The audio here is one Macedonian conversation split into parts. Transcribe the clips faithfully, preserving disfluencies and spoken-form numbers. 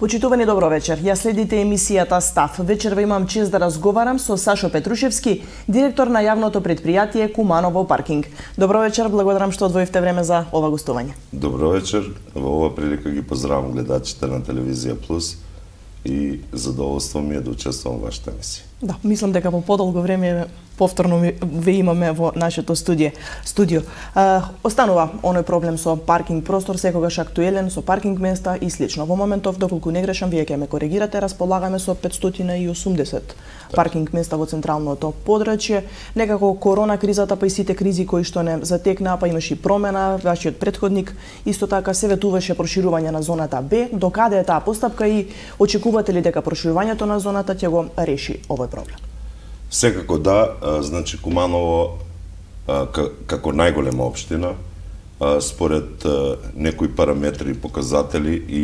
Почитувани, добро вечер. Ја следите емисијата Став. Вечерва имам чест да разговарам со Сашо Петрушевски, директор на јавното предпријатие Куманово паркинг. Добро вечер, благодарам што одвоивте време за ова гостување. Добро вечер. Во ова прилика ги поздравам гледачите на Телевизија Плюс и задоволство ми е да учествувам во вашата емисија. Да, мислам дека по подолго време повторно ве имаме во нашето студио. Студио. А, останува оној проблем со паркинг простор, секогаш актуелен, со паркинг места и слично. Во моментов, доколку не грешам, вие ќе ме коригирате, располагаме со петстотини и осумдесет паркинг места во централното подрачје. Некако корона кризата, па и сите кризи кои што не затекнаа, па имаше и промена, вашиот претходник исто така се ветуваше проширување на зоната Б. До каде е таа постапка и очекувате ли дека проширувањето на зоната ќе го реши овој проблем? Секако да, значи Куманово како најголема општина, според некои параметри и показатели и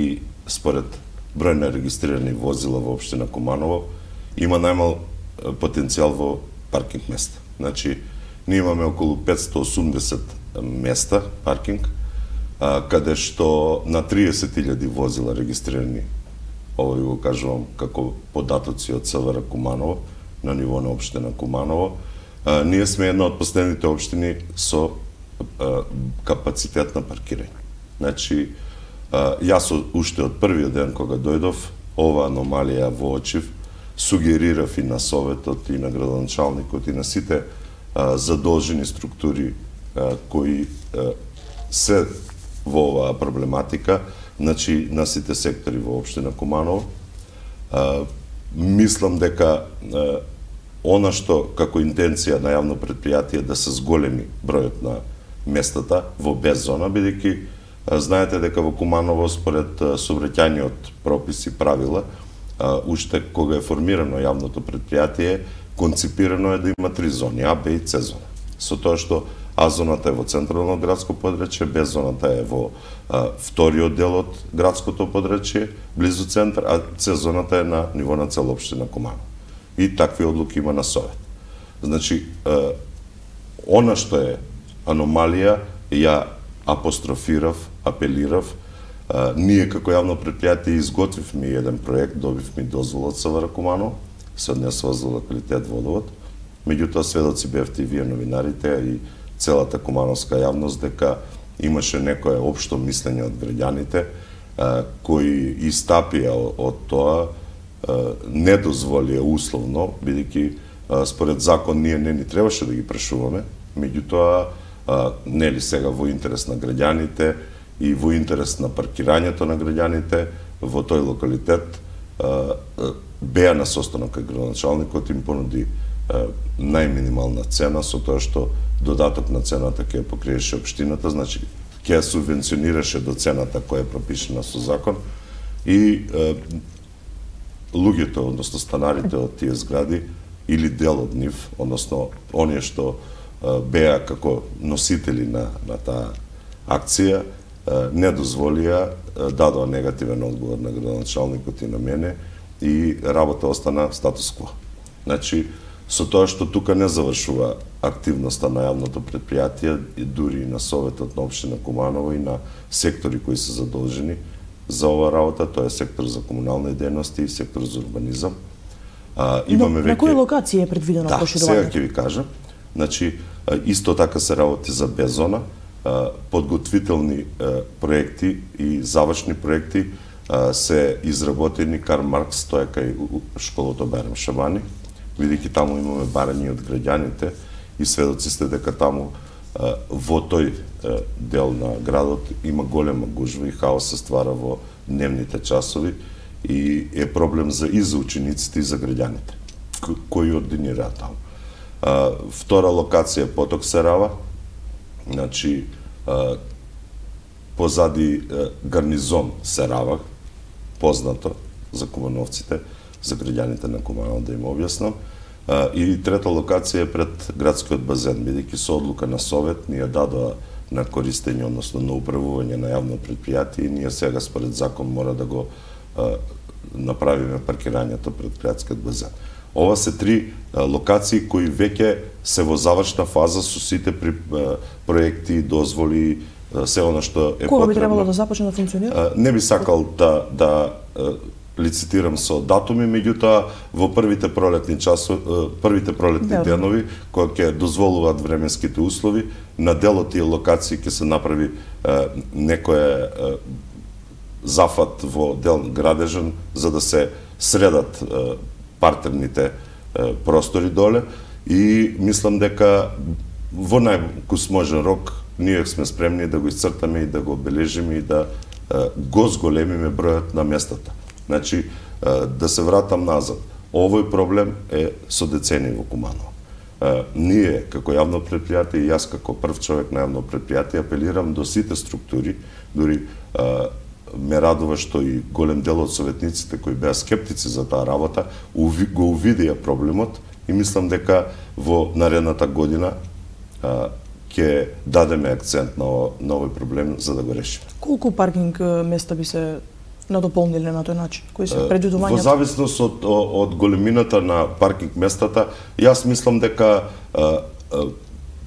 според број на регистрирани возила во општина Куманово, има најмал потенцијал во паркинг места. Значи, ние имаме околу петстотини и осумдесет места паркинг, каде што на триесет илјади возила регистрирани, ово ви го кажувам како податоци од СВР Куманово, на ниво на општина Куманово. А, ние сме една од последните општини со а, капацитет на паркирање. Значи, а, јас уште од првиот ден кога дојдов, ова аномалија воочив, сугерирав и на советот, и на градоначалникот, и на сите а, задолжени структури а, кои а, се во оваа проблематика, значи на сите сектори во општина Куманово. А, мислам дека а, она што како интенција на јавно предпријатие да се зголеми бројот на местата во без зона, бидејќи знаете дека во Куманово според сообраќајниот прописи правила, уште кога е формирано јавното предпријатие, конципирано е да има три зони, А, Б и С зона. Со тоа што А зоната е во централно градско подрачје, Б зоната е во а, вториот дел од градското подрачје, близу центар, а С зоната е на ниво на цела општина Куманово. И такви одлуки има на совет. Значи, а, она што е аномалија, ја апострофирав, апелирав, а, ние како јавно предпријатие изготвивме еден проект, добивме дозвола од СВР Куманово, се однесува за локалитет Водовод. Меѓутоа, сведоци бевте и вие новинарите и целата кумановска јавност дека имаше некое општо мислење од граѓаните а, кои истапија од тоа, а, не дозволија условно, бидејќи според закон ние не ни требаше да ги прешуваме, меѓутоа а, нели сега во интерес на граѓаните и во интерес на паркирањето на граѓаните во тој локалитет а, а, беа на состанок кај градоначалникот им понуди а, најминимална цена, со тоа што додаток на цената ќе ја покриеше општината, значи ќе ја субвенционираше до цената која е пропишена со закон и е, луѓето, односно станарите од тие згради или дел од нив, односно оние што е, беа како носители на, на таа акција, е, не дозволија, е, дадоа негативен одговор на градоначалникот и на мене и работа остана статус-кво. Значи, со тоа што тука не завршува активноста на јавното предпријатие, и дури и на советот на општина Куманово и на сектори кои се задолжени за ова работа, тоа е сектор за комунални дејности и сектор за урбанизам. А, имаме на, на кои локации е предвидено да, проширување? Сега ќе ви кажам. Значи, исто така се работи за беззона, подготвителни проекти и завршни проекти се изработени Карл Маркс, тоа е кај школото Байрам Шабани, бидејќи таму имаме барања од граѓаните и сведоци сте дека таму во тој дел на градот има голема гужва и хаос се ствара во дневните часови и е проблем за и за учениците и за граѓаните кои ординираат таму. Втора локација е Поток Сарава, значи позади гарнизон Сарава, познато за кумановците, за граѓаните на Куманово да им објаснам. И трета локација е пред градскиот базен, бидејќи со одлука на совет ние дадоа на користење, односно на управување на јавно предпријатие и ние сега според закон мора да го а, направиме паркирањето пред градскиот базен. Ова се три а, локации кои веќе се во завршна фаза со сите при, а, проекти, дозволи, се она што е Кога потребно. би требало да започне да функционира? Не би сакал да да лицитирам со датуми, меѓутоа во првите пролетни часови, првите пролетни Добре. денови, кои ќе дозволуваат временските услови, на дел од тие локации ќе се направи е, некој е, зафат во дел градежен за да се средат е, партерните е, простори доле и мислам дека во најкусможен рок ние сме спремни да го исцртаме и да го обележиме и да е, го зголемиме бројот на местата. Значи, да се вратам назад. Овој проблем е со децени во Куманово. Ние, како јавно предпријатие, и јас како прв човек на јавно предпријатие, апелирам до сите структури, дури ме радува што и голем дел од советниците кои беа скептици за таа работа, го увидија проблемот и мислам дека во наредната година ќе дадеме акцент на овој проблем за да го решиме. Колку паркинг места би се надополниле на тој начин? Кои се Во предвидувањата? зависност од, од големината на паркинг местата, јас мислам дека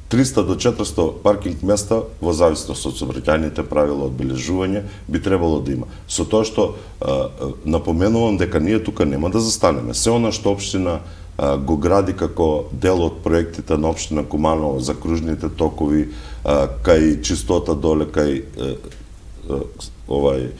триста до четиристо паркинг места во зависност од сообраќајните правила одбележување би требало да има. Со тоа што напоменувам дека ние тука нема да застанеме. Се она што општина го гради како дел од проектите на општина Куманово за кружните токови, кај чистота доле, кај овај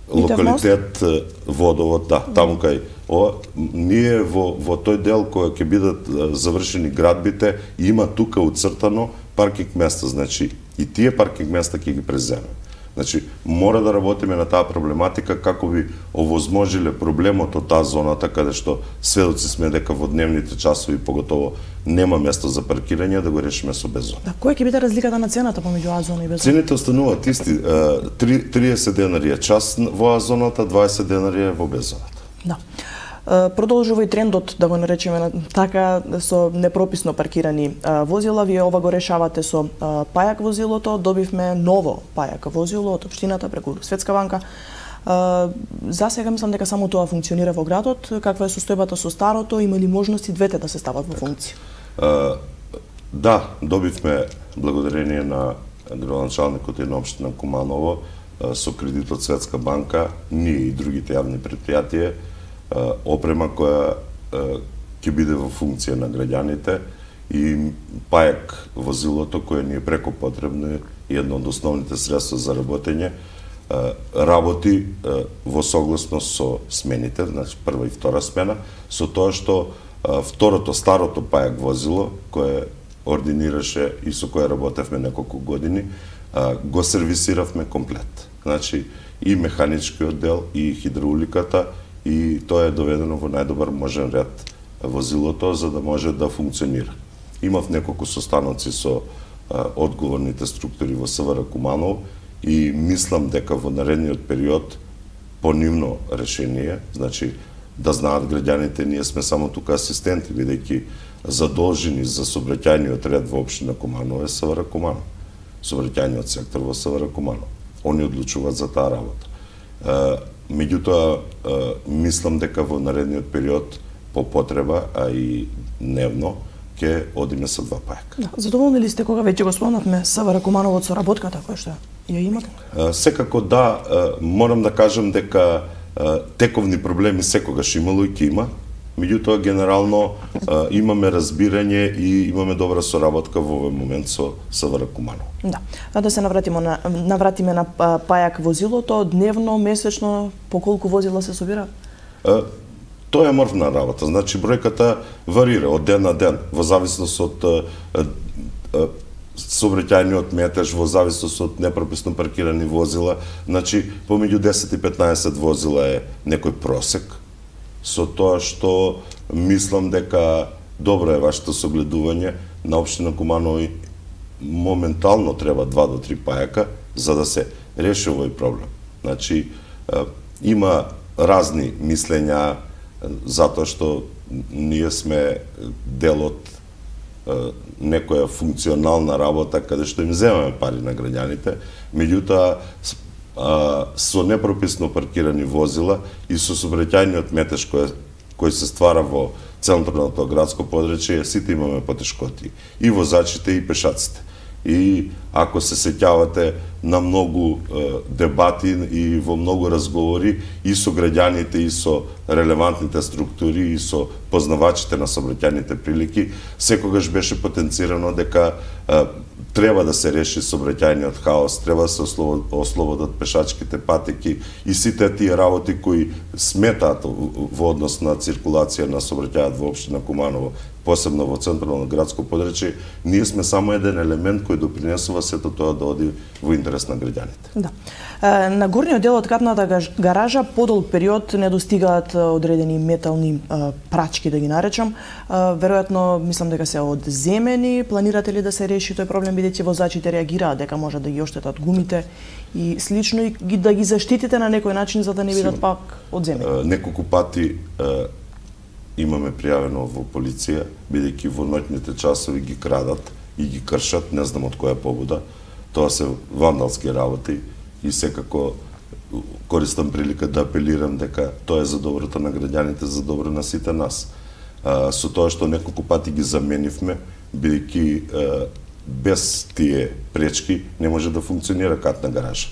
локалитет водовод, да, таму кај ова, ние во во тој дел кој ќе бидат завршени градбите, има тука уцртано паркинг места, значи и тие паркинг места ќе ги преземеме. Значи, мора да работиме на таа проблематика како би овозможиле проблемот од таа зоната каде што сведоци сме дека во дневните часови поготово нема место за паркирање, да го решиме со беззона. Да, која ќе биде разликата на цената помеѓу А зона и Б зона? Цените остануваат исти, триесет денари е час во А зоната, дваесет денари е во Б зоната. Да. Продолжува и трендот, да го наречеме така, со непрописно паркирани возила. Вие ова го решавате со пајак возилото. Добивме ново пајак возило од општината преку Светска банка. За сега мислам дека само тоа функционира во градот. Каква е состојбата со старото? Има ли можности двете да се стават во функција? Да, добивме благодарение на градоначалникот и на општина Куманово со кредит од Светска банка, ние и другите јавни предпријатија, опрема која ќе биде во функција на граѓаните и пајак возилото кое ни е преко потребно и едно од основните средства за работење, работи во согласност со смените, значи прва и втора смена, со тоа што второто, старото пајак возило, кое ординираше и со кое работевме неколку години, го сервисиравме комплет. Значи и механичкиот дел, и хидрауликата, и тоа е доведено во најдобар можен ред возилото за да може да функционира. Имав неколку состаноци со а, одговорните структури во СВР Куманово и мислам дека во наредниот период по нивно решение, значи да знаат граѓаните, ние сме само тука асистенти, бидејќи задолжени за сообраќајниот ред во општина Куманово е СВР Куманово. Сообраќајниот сектор во СВР Куманово. Они одлучуваат за таа работа. Меѓутоа, мислам дека во наредниот период по потреба, а и дневно, ќе одиме со два пајака. Да, задоволни ли сте кога веќе го спомнавме СВР Куманово со работката која што ја имате? Секако да, морам да кажам дека тековни проблеми секогаш имало и ќе има. Меѓутоа, генерално имаме разбирање и имаме добра соработка во овој момент со СВР Куманово. Да. А да се навратиме на навратиме на пајак возилото, дневно, месечно, по колку возила се собира? Тоа е морфна работа, значи бројката варира од ден на ден, во зависност од сообраќајниот метеж, во зависност од непрописно паркирани возила, значи помеѓу десет и петнаесет возила е некој просек, со тоа што мислам дека добро е вашето согледување на општина Куманово моментално треба два до три пајака за да се реши овој проблем. Значи има разни мислења затоа што ние сме дел од некоја функционална работа каде што им земаме пари на граѓаните, меѓутоа со непрописно паркирани возила и со сообраќајниот метеж кој, кој се ствара во централното градско подречје, сите имаме потешкоти. И возачите, и пешаците. И ако се сеќавате на многу е, дебати и во многу разговори и со граѓаните и со релевантните структури и со познавачите на сообраќајните прилики, секогаш беше потенцирано дека е, треба да се реши сообраќајниот хаос, треба да се ослободат пешачките патеки и сите тие работи кои сметаат во однос на циркулација на сообраќајот во општина Куманово, посебно во централно градско подрачје. Ние сме само еден елемент кој допринесува сето тоа да оди во интерес на граѓаните. Да. На горниот дел од капната гаража подолг период не достигаат одредени метални прачки, да ги наречам. Веројатно, мислам дека се одземени. Планирате ли да се реши тој проблем, бидејќи возачите реагираат дека може да ги оштетат гумите и слично, и да ги заштитите на некој начин за да не бидат пак одземени? Неколку пати имаме пријавено во полиција, бидејќи во ноќните часови ги крадат и ги кршат, не знам од која побуда. Тоа се вандалски работи и секако користам прилика да апелирам дека тоа е за доброто на граѓаните, за добро на сите нас. А, со тоа што неколку пати ги заменивме, бидејќи без тие пречки не може да функционира катна гаража.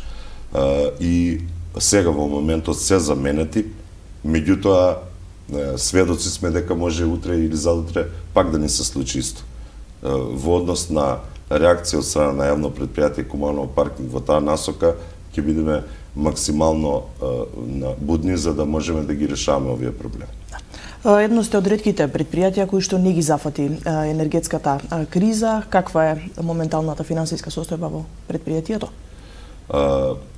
А, и сега во моментот се заменети, меѓутоа сведоци сме дека може утре или задутре пак да ни се случи исто. Во однос на реакција од страна на јавно предпријатие Куманово паркинг во таа насока ќе бидеме максимално будни за да можеме да ги решаваме овие проблеми. Едно сте од ретките предпријатија кои што не ги зафати енергетската криза. Каква е моменталната финансиска состојба во предпријатието?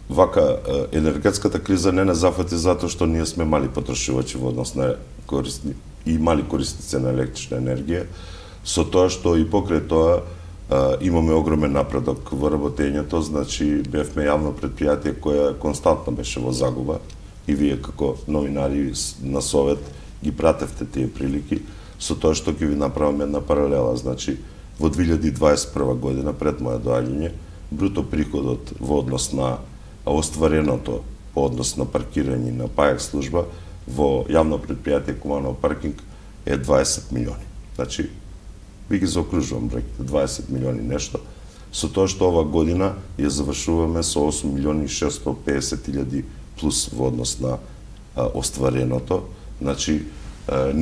Вака, енергетската криза не не зафати затоа што ние сме мали потрошувачи во однос на корисни и мали корисници на електрична енергија, со тоа што и покрај тоа имаме огромен напредок во работењето, значи бевме јавно предпријатие кое константно беше во загуба и вие како новинари на Совет ги пратевте тие прилики, со тоа што ќе ви направам една паралела, значи во две илјади дваесет и прва година пред моја доаѓање, бруто приходот во однос на оствареното по однос на паркирање на паек служба во јавно предпријатие Куманово паркинг е дваесет милиони. Значи, ви ги заокружувам бројките, дваесет милиони нешто, со тоа што ова година ја завршуваме со осум милиони и шестстотини и педесет илјади плюс во однос на а, оствареното. Значи, а,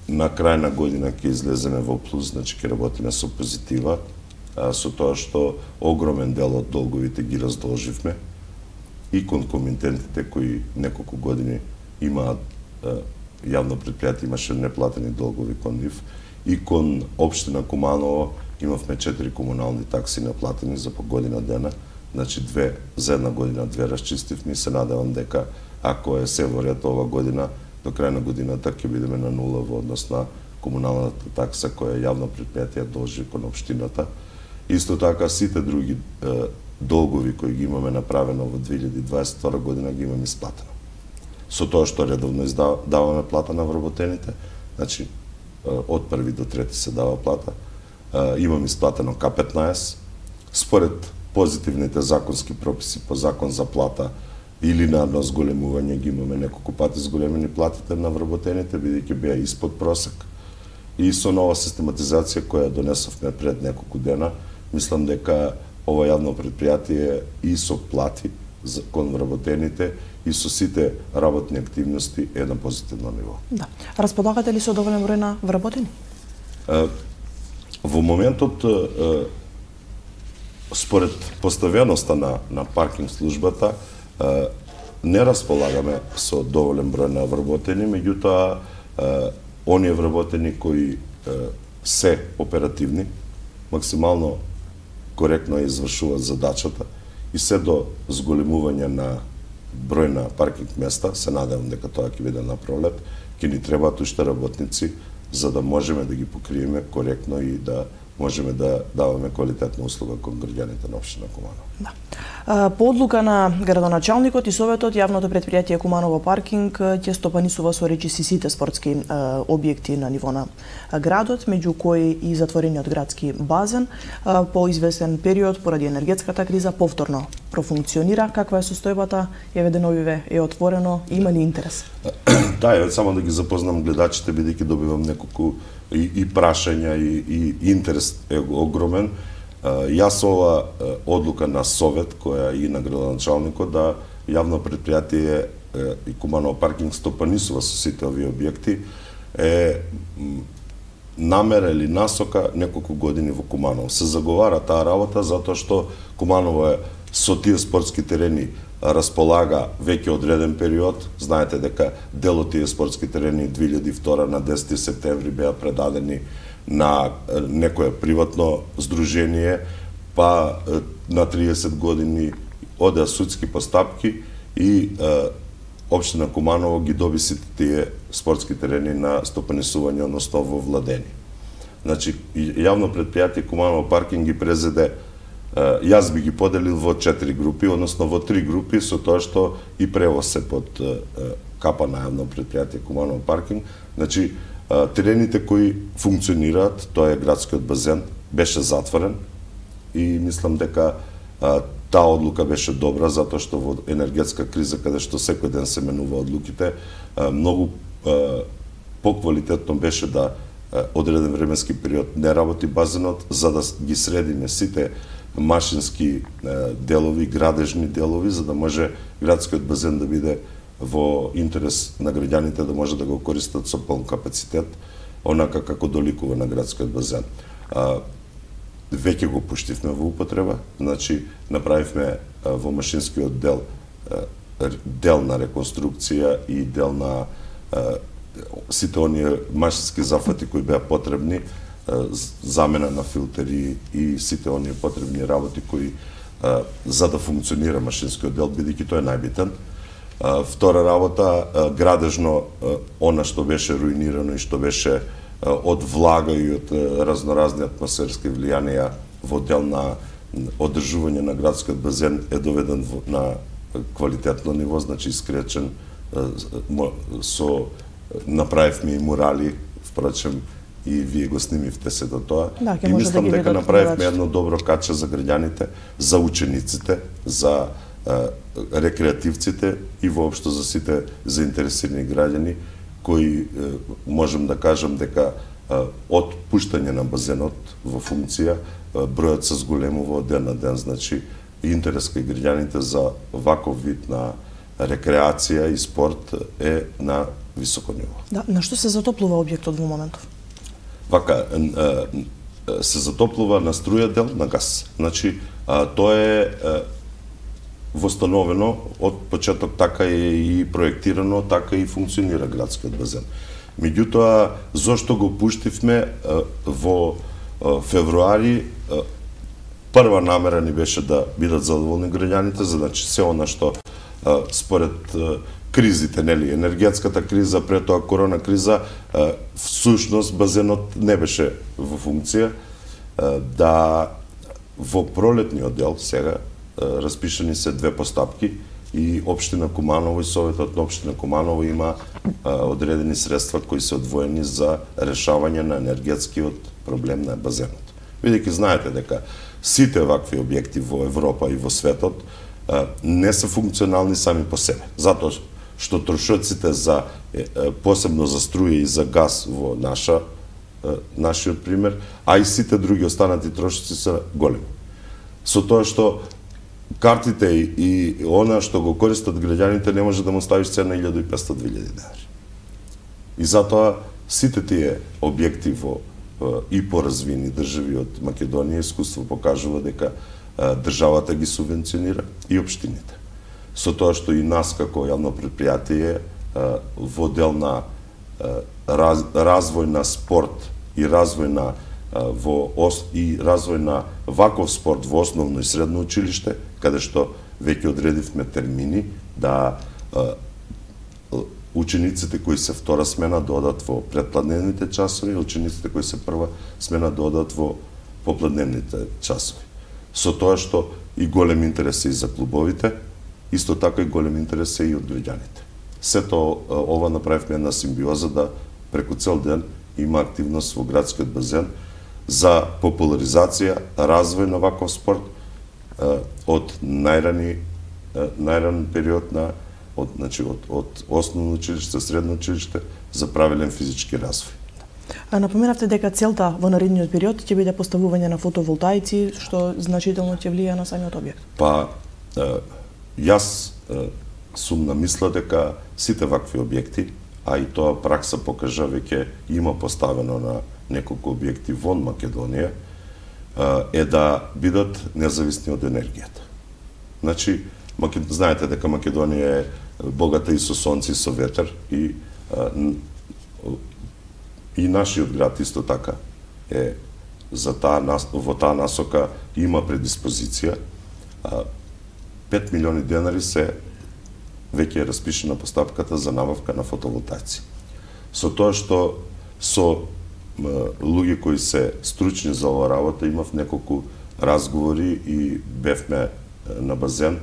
на крај на година ќе излеземе во плюс, значи ќе работиме со позитива, а, со тоа што огромен дел од долговите ги раздолживме и кон комитентите кои неколку години имаат јавно предпријатие имаше неплатени долгови кон нив и кон општина Куманово имавме четири комунални такси неплатени за по година дена, значи две за една година две расчистивме и се надевам дека ако е се во ред ова година до крај на годината ќе бидеме на нула во однос на комуналната такса која јавно предпријатие должи кон општината. Исто така сите други е, долгови кои ги имаме направено во две илјади дваесет и втора година ги имаме исплатено. Со тоа што редовно издаваме плата на вработените, значи од први до трети се дава плата, имам исплатено К петнаесет, според позитивните законски прописи по закон за плата или на едно зголемување ги имаме неколку пати зголемени платите на вработените, бидејќи беа испод просек. И со нова систематизација која донесовме пред неколку дена, мислам дека ова јавно предпријатие и со плати кон вработените и со сите работни активности е на позитивно ниво. Да. Располагате ли со доволен број на вработени? Во моментот, според поставеноста на, на паркинг службата, не располагаме со доволен број на вработени, меѓутоа, оние вработени кои се оперативни, максимално коректно извршуваат задачата и се до зголемување на број на паркинг места, се надевам дека тоа ќе биде на пролет, ќе ни требаат уште работници за да можеме да ги покриеме коректно и да можеме да даваме квалитетна услуга кон граѓаните на општина Куманово. Да. По одлука на градоначалникот и советот, јавното предпријатие Куманово паркинг ќе стопанисува со речиси сите спортски објекти на ниво на градот, меѓу кои и затворениот градски базен по известен период поради енергетската криза повторно профункционира. Каква е состојбата? Еве деновиве е отворено, има ли интерес? Да, еве само да ги запознам гледачите, бидејќи добивам неколку и, и прашања и, и интерес е огромен. Јас ова одлука на совет, која и на градоначалникот, да јавно предпријатие и Куманово паркинг стопанисува со сите овие објекти, е намера или насока неколку години во Куманово. Се заговара таа работа затоа што Куманово е со тие спортски терени располага веќе одреден период. Знаете дека дел од тие спортски терени две илјади и втора на десети септември беа предадени на некое приватно здружение, па на триесет години одеа судски постапки и Општина Куманово ги доби сите тие спортски терени на стопанисување, односно во владени. Значи, јавно предпријатие Куманово паркинг ги презеде, јас би ги поделил во четири групи, односно во три групи, со тоа што и превоз се под капа на јавно предпријатие Куманово паркинг. Значи, терените кои функционираат, тоа е градскиот базен, беше затворен и мислам дека таа одлука беше добра, затоа што во енергетска криза, каде што секој ден се менува одлуките, многу поквалитетно беше да одреден временски период не работи базенот, за да ги средиме сите машински делови, градежни делови, за да може градскиот базен да биде во интерес на граѓаните, да може да го користат со полн капацитет, онака како доликува на градскиот базен. Веќе го пуштивме во употреба, значи направивме во машинскиот дел дел на реконструкција и дел на сите оние машински зафати кои беа потребни, замена на филтери и сите оние потребни работи кои за да функционира машинскиот дел, бидејќи тој е најбитен. Втора работа, градежно, она што беше руинирано и што беше од влага и од разноразни атмосферски влијанија во дел на одржување на градскиот базен е доведен на квалитетно ниво, значи искречен, со направивме и мурали, впрочем и вие го снимивте се до тоа. Да, и мислам да дека направивме едно добро каче за граѓаните, за учениците, за рекреативците и воопшто за сите заинтересирани граѓани, кои можем да кажам дека од пуштање на базенот во функција бројот се зголемува од ден на ден, значи интерес кај граѓаните за ваков вид на рекреација и спорт е на високо ниво. Да, на што се затоплува објектот во моментов? Вака, се затоплува на струја дел на газ. Значи, тоа е востановено од почеток, така е и проектирано, така и функционира градскиот базен. Меѓутоа, зошто го пуштивме во февруари, прва намера ни беше да бидат задоволни граѓаните, значи се она што според кризите, нели, енергетската криза, пред тоа корона криза, всушност базенот не беше во функција, да во пролетниот дел сега распишани се две постапки и Општина Куманово и Советот на Општина Куманово има одредени средства кои се одвоени за решавање на енергетскиот проблем на базенот. Бидејќи знаете дека сите вакви објекти во Европа и во светот не се функционални сами по себе, затоа што трошоците за посебно за струја и за газ во наша нашиот пример, а и сите други останати трошоци се големи. Со тоа што картите и она што го користат граѓаните не може да му ставиш цена илјада и петстотини до две илјади денари. И затоа сите тие објекти во и поразвини држави од Македонија искуство покажува дека државата ги субвенционира и општините. Со тоа што и нас како јавно предпријатие во дел на раз, развој на спорт и развој на во ос, и развој на ваков спорт во основно и средно училиште, каде што веќе одредивме термини да учениците кои се втора смена да одат во предпладневните часови, учениците кои се прва смена да одат во попладневните часови. Со тоа што и голем интерес е и за клубовите, исто така и голем интерес е и од граѓаните. Сето ова направивме една симбиоза да преку цел ден има активност во градскиот базен за популаризација, развој на ваков спорт од најрани најран период на од значи од од основно училиште, средно училиште за правилен физички развој. А напоменавте дека целта во наредниот период ќе биде поставување на фотоволтаици, што значително ќе влијае на самиот објект. Па, е, јас е, сум на мисла дека сите вакви објекти, а и тоа пракса покажа веќе има поставено на неколку објекти вон Македонија, е да бидат независни од енергијата. Значи, знаете дека Македонија е богата и со сонце и со ветер и и нашиот град исто така е за таа во таа насока има предиспозиција. пет милиони денари се веќе е распишена постапката за набавка на фотоволтаици. Со тоа што со луѓе кои се стручни за оваа работа имав неколку разговори и бевме на базен,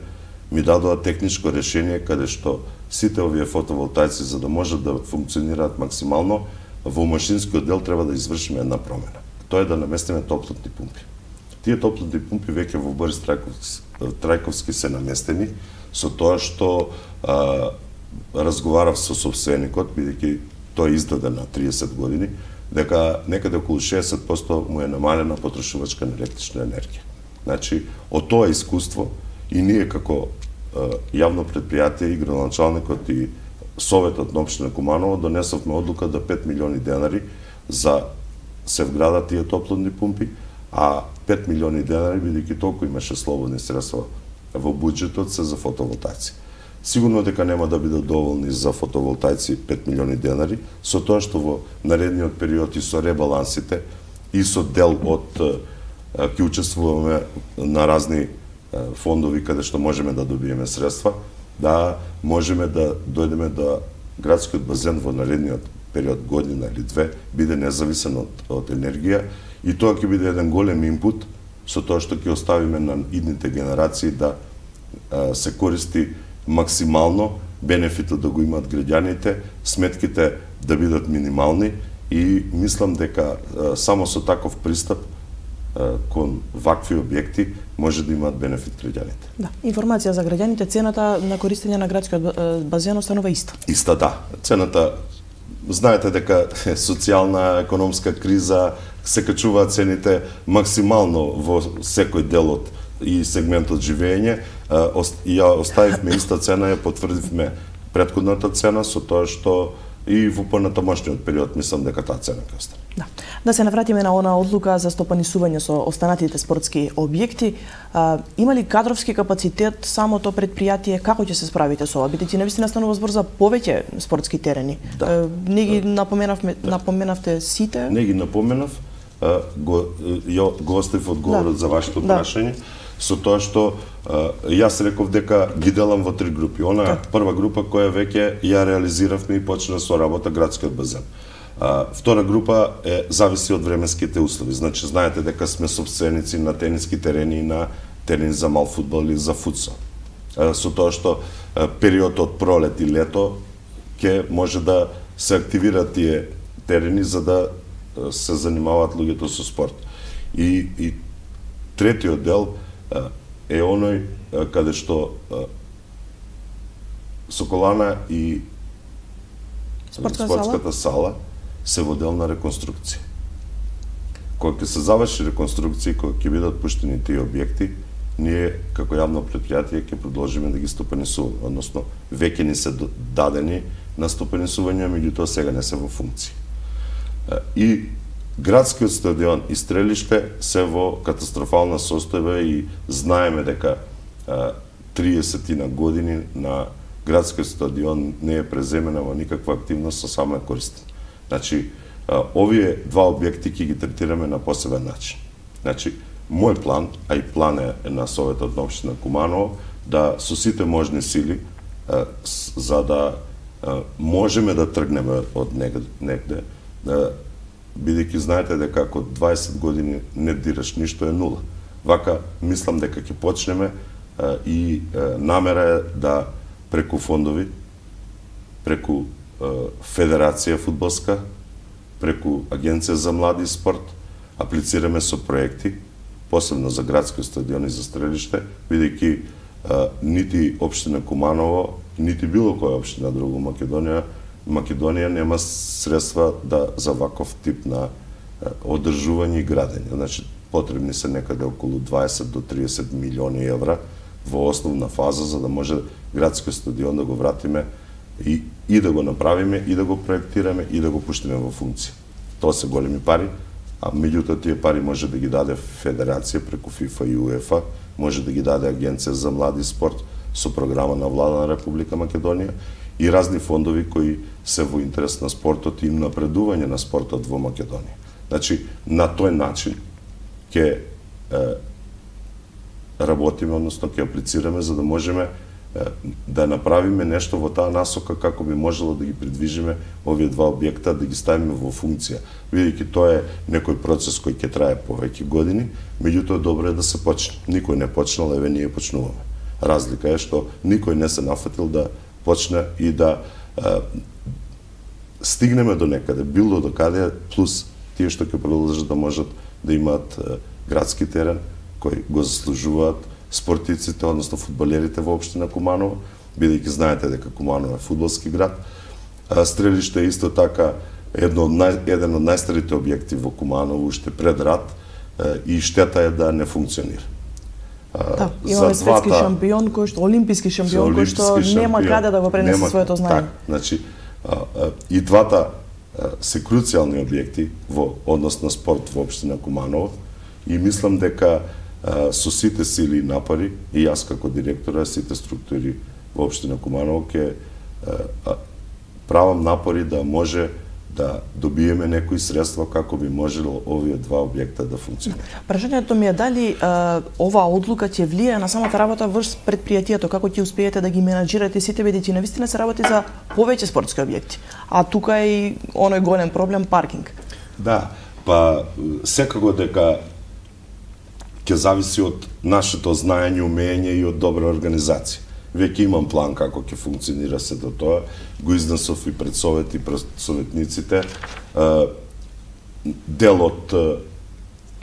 ми дадоа техничко решение каде што сите овие фотоволтаици за да можат да функционираат максимално, во машинскиот дел треба да извршиме една промена. Тоа е да наместиме топлотни пумпи. Тие топлотни пумпи веќе во Борис Трајковски, Трајковски се наместени, со тоа што а, разговарав со собственикот, бидејќи тој издаде на триесет години, дека некаде околу шеесет проценти му е намалена потрошувачка на електрична енергија. Значи, од тоа искуство и ние како а, јавно предпријатие и градоначалникот и Советот на општина Куманово донесовме одлука да пет милиони денари за се вградат тие топлотни пумпи, а пет милиони денари, бидејќи толку имаше слободни средства во буџетот, се за фотоволтаици. Сигурно дека нема да бидат доволни за фотоволтаици пет милиони денари, со тоа што во наредниот период и со ребалансите и со дел од ќе учествуваме на разни фондови каде што можеме да добиеме средства, да можеме да дојдеме до градскиот базен во наредниот период, година или две, биде независен од, од енергија и тоа ќе биде еден голем инпут со тоа што ќе оставиме на идните генерации да а, се користи максимално, бенефитот да го имаат граѓаните, сметките да бидат минимални и мислам дека а, само со таков пристап а, кон вакви објекти може да имаат бенефит граѓаните. Да, информација за граѓаните, цената на користење на градскиот базен останува иста. Иста, да. Цената, знаете дека социјална, економска криза се качуваат цените максимално во секој дел од и сегмент од живење. Ја оставивме иста цена, ја потврдивме претходната цена со тоа што и во понатамошниот период мислам дека таа цена ќе остане. Да. Да се навратиме на она одлука за стопанисување со останатите спортски објекти. А, има ли кадровски капацитет самото предпријатие, како ќе се справите со ова? Бидејќи навистина станува збор за повеќе спортски терени. Да. Не ги напоменавме, да. напоменавте сите? Не ги напоменав, го ја го оставив одговорот да. за вашето прашање. Да. Со тоа што а, јас реков дека ги делам во три групи. Она да. прва група која веќе ја реализиравме и почна со работа градскиот базен. А, втора група е зависи од временските услови. Значи знаете дека сме собственици на тениски терени и на терени за мал фудбал или за футсал. А, со тоа што а, период од пролет и лето ќе може да се активираат тие терени за да а, се занимаваат луѓето со спорт. И, и третиот дел е оној каде што Соколана и спортска спортската сала се во дел на реконструкција. Кога ќе се заврши реконструкција, кога ќе бидат пуштени тие објекти, ние како јавно предпријатие ќе продолжиме да ги стопанисуваме, односно веќе ни се дадени на стопанисување, меѓутоа сега не се во функција. И градскиот стадион и стрелиште се во катастрофална состојба и знаеме дека триесет години на градскиот стадион не е преземена во никаква активност, со само е користен. Значи, овие два објекти ќе ги третираме на посебен начин. Значи, мој план, а и план е на Советот на општина Куманово, да со сите можни сили, за да можеме да тргнеме од негде, да бидејќи знаете дека ако дваесет години не дираш ништо е нула. Вака, мислам дека ќе почнеме а, и а, намера е да преку фондови, преку а, Федерација фудбалска, преку Агенција за млади и спорт, аплицираме со проекти, посебно за градскиот стадион и за стрелиште, бидејќи нити општина Куманово, нити било која општина друга Македонија Македонија нема средства да за ваков тип на одржување и градење. Значи потребни се некаде околу дваесет до триесет милиони евра во основна фаза за да може градскиот стадион да го вратиме и, и да го направиме, и да го проектираме, и да го пуштиме во функција. Тоа се големи пари, а меѓутоа тие пари може да ги даде Федерација преку ФИФА и УЕФА, може да ги даде Агенција за млади спорт со програма на Влада на Република Македонија и разни фондови кои се во интерес на спортот и напредување на спортот во Македонија. Значи, на тој начин ќе работиме, односно ќе аплицираме за да можеме да направиме нешто во таа насока како би можело да ги придвижиме овие два објекта, да ги ставиме во функција. Бидејќи тоа е некој процес кој ќе трае повеќе години, меѓутоа добро е да се почне. Никој не почнал, еве ние почнуваме. Разлика е што никој не се нафатил да почне и да е, стигнеме до некаде, било до каде, плюс тие што ќе продолжат да можат да имаат е, градски терен кој го заслужуваат спортиците, односно фудбалерите во општина Куманово, бидејќи знаете дека Куманово е фудбалски град. Стрелиште е исто така едно од нај, еден од најстарите објекти во Куманово, уште пред рат, и штета е да не функционира. Да, имаме светски шампион кој што олимписки шампион кој што нема каде да го пренесе нема, своето знаење. Так, значи и двата се круцијални објекти во однос на спорт во општина Куманово и мислам дека со сите сили и напори, и јас како директор, сите структури во општина Куманово ќе правам напори да може да добиеме некои средства како би можело овие два објекта да функционираат. Прашањето ми е дали а, оваа одлука ќе влијае на самата работа врз предпријатието, како ќе успеете да ги менаџирате сите, бидејќи навистина се работи за повеќе спортски објекти, а тука е и оној голем проблем паркинг. Да, па секако дека ќе зависи од нашето знаење, умење и од добра организација. Веќе имам план како ќе функционира сето тоа, го изнесов и пред совет и пред советниците. Дел од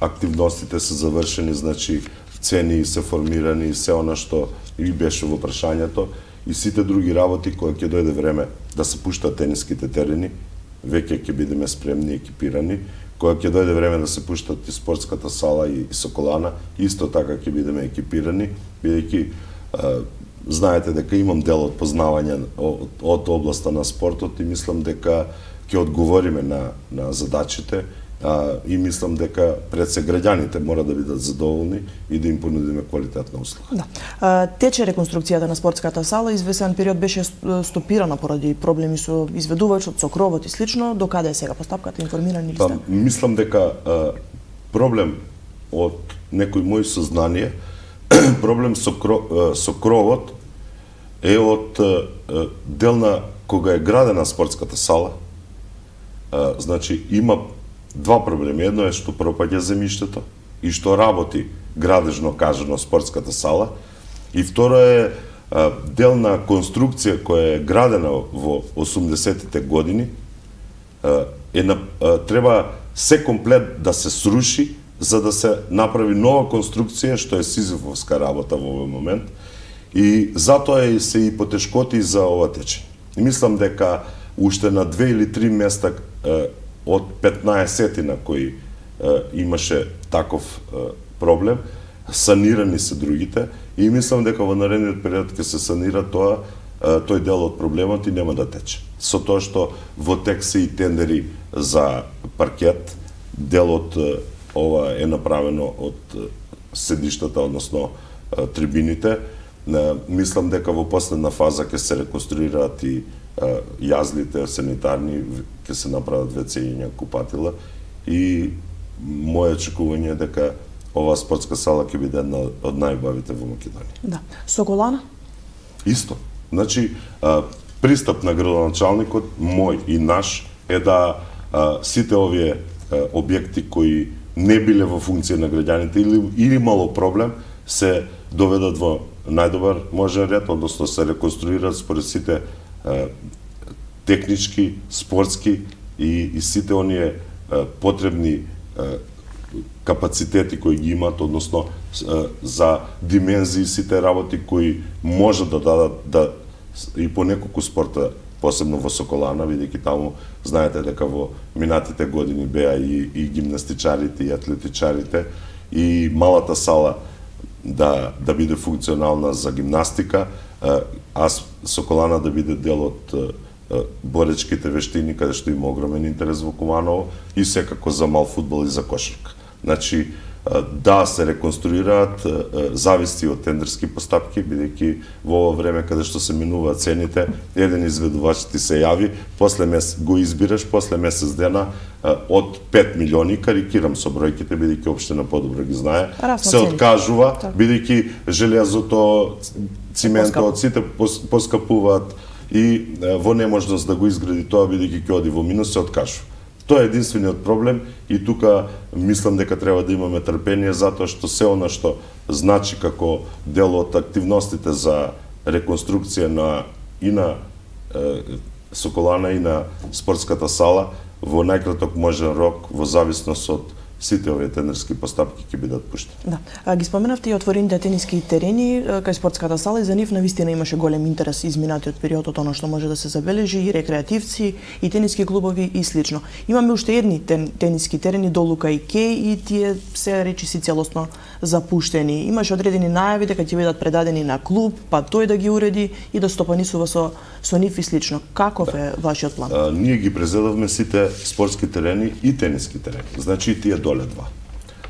активностите се завршени, значи цени се формирани, се она што и беше во прашањето, и сите други работи кои ќе дојде време да се пуштат тениските терени, веќе ќе бидеме спремни и екипирани. Кога ќе дојде време да се пуштат и спортската сала и Соколана, исто така ќе бидеме екипирани, бидејќи знаете дека имам дел од познавање од, од областа на спортот и мислам дека ќе одговориме на, на задачите а, и мислам дека пред се граѓаните мора да бидат задоволни и да им понудиме квалитетна услуга. Да. А, тече реконструкцијата на спортската сала, извесен период беше стопирана поради проблеми со изведувачот, со кровот и слично. До каде е сега постапката, информирани ли сте? Па, мислам дека а, проблем од некои мои сознание, проблем со, кро, со кровот е од дел на кога е градена спортската сала. А, значи има два проблеми. Едно е што пропаѓа земјиштето и што работи градежно кажано спортската сала. И второ е а, дел на конструкција која е градена во осумдесетите години. А, е на, а, треба се комплет да се сруши за да се направи нова конструкција, што е сизифовска работа во овој момент. И затоа е се и потешкоти за ова течење. И мислам дека уште на две или три места е, од петнаесет кои е, имаше таков е, проблем, санирани се другите и мислам дека во наредниот период ќе се санира тоа, е, тој дел од проблемот и нема да тече. Со тоа што во тек се и тендери за паркет, дел од е, ова е направено од е, седиштата, односно е, трибините. Мислам дека во последна фаза ќе се реконструираат и а, јазлите санитарни, ќе се направат вецења, купатила и моје очекување е дека оваа спортска сала ќе биде една од најубавите во Македонија. Да. Соколана? Исто. Значи, а, пристап на градоначалникот, мој и наш, е да а, сите овие а, објекти кои не биле во функција на граѓаните или, или имало проблем, се доведат во најдобар можен ред, односно се реконструираат според сите е, технички, спортски и, и сите оние е, потребни е, капацитети кои ги имаат, односно е, за димензии сите работи кои може да дадат да и по неколку спорта посебно во Соколана, бидејќи таму знаете дека во минатите години беа и, и гимнастичарите и атлетичарите, и малата сала да да биде функционална за гимнастика, а Соколана да биде дел од боречките вештини, каде што има огромен интерес во Куманово, и секако за мал фудбал и за кошарка. Значи, да се реконструираат, зависи од тендерски постапки, бидејќи во ова време каде што се минуваат цените, еден изведувач ти се јави, после месец го избираш, после месец дена од пет милиони, карикирам со бројките, бидејќи општина подобро ги знае, Расна се цени. откажува, Так. бидејќи железото, циментот, сите поскапуваат и во неможност да го изгради тоа, бидејќи ќе оди во минус, се откажува. Тоа е единствениот проблем и тука мислам дека треба да имаме трпение, затоа што се она што значи како дел од активностите за реконструкција на и на е, Соколана и на спортската сала во најкраток можен рок, во зависност од сите овие тендерски постапки ќе бидат пуштени. Да. А, ги споменавте и отворените тениски терени кај спортската сала, и за нив навистина имаше голем интерес изминатиот период од она што може да се забележи, и рекреативци, и тениски клубови и слично. Имаме уште едни тен, тениски терени долу кај Кеј, и тие се речиси целосно запуштени. Имаше одредени најави дека ќе бидат предадени на клуб, па тој да ги уреди и да стопанисува со со нив и слично. Каков да. е вашиот план? А, ние ги презедавме сите спортски терени и тениски терени. Значи и тие доле два.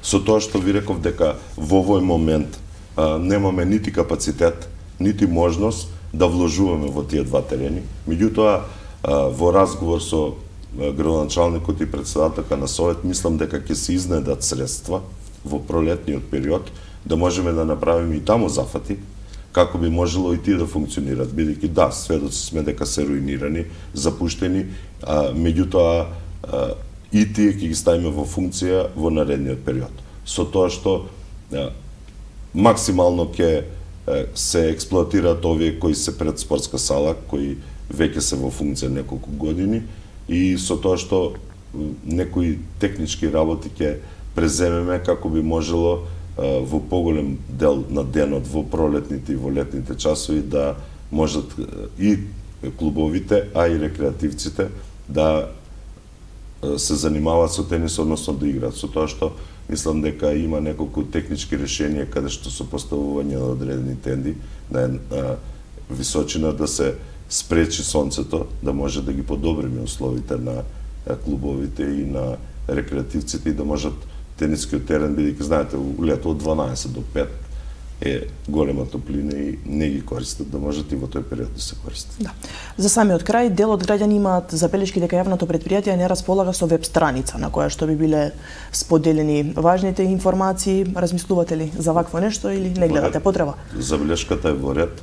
Со тоа што ви реков дека во овој момент а, немаме нити капацитет, нити можност да вложуваме во тие два терени. Меѓутоа, а, во разговор со градоначалникот и председателка на совет, мислам дека ќе се изнедат средства во пролетниот период да можеме да направиме и таму зафати, како би можело и тие да функционират, бидејќи да, сведоци сме дека се руинирани, запуштени, а, меѓутоа а, и тие ќе ги ставиме во функција во наредниот период. Со тоа што а, максимално ќе се експлоатираат овие кои се пред спортска сала, кои веќе се во функција неколку години, и со тоа што некои технички работи ќе преземеме како би можело во поголем дел на денот во пролетните и во летните часови да можат и клубовите, а и рекреативците да се занимаваат со тенис, односно да играат. Со тоа што мислам дека има неколку технички решенија каде што со поставување на одредени тенди на една височина да се спречи сонцето, да може да ги подобриме условите на клубовите и на рекреативците и да можат тенискиот терен, бидејќи знаете, лето од дванаесет до пет е голема топлина и не ги користат, да можат и во тој период да се користат. Да. За самиот крај, дел од граѓани имаат забелешки дека јавното претпријатие не располага со веб страница на која што би биле споделени важните информации. Размислувате ли за вакво нешто или не гледате потреба? Забелешката е во ред.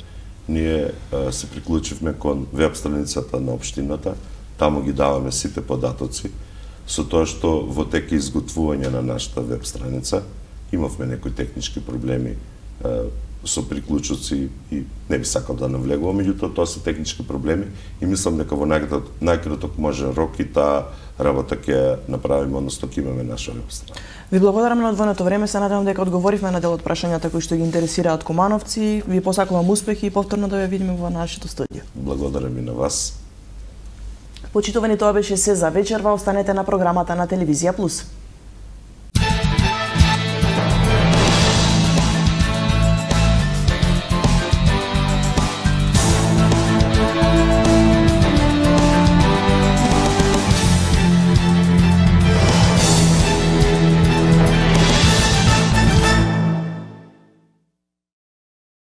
Ние а, се приклучивме кон веб страницата на општината, таму ги даваме сите податоци, со тоа што во тек изготвување на нашата веб страница имавме некои технички проблеми а, со приклучоци и не би сакал да навлегувам, меѓутоа тоа се технички проблеми и мислам дека во најкраток, најкраток можен рок и таа работа ќе направиме, односно ќе имаме наша веб страница. Ви благодарам на одвоеното време, се надевам дека одговоривме на дел од прашањата кои што ги интересираат кумановци. Ви посакувам успех и повторно да ве видиме во нашето студио. Благодарам и на вас. Почитувани, тоа беше се за вечерва. Останете на програмата на Телевизија Плюс.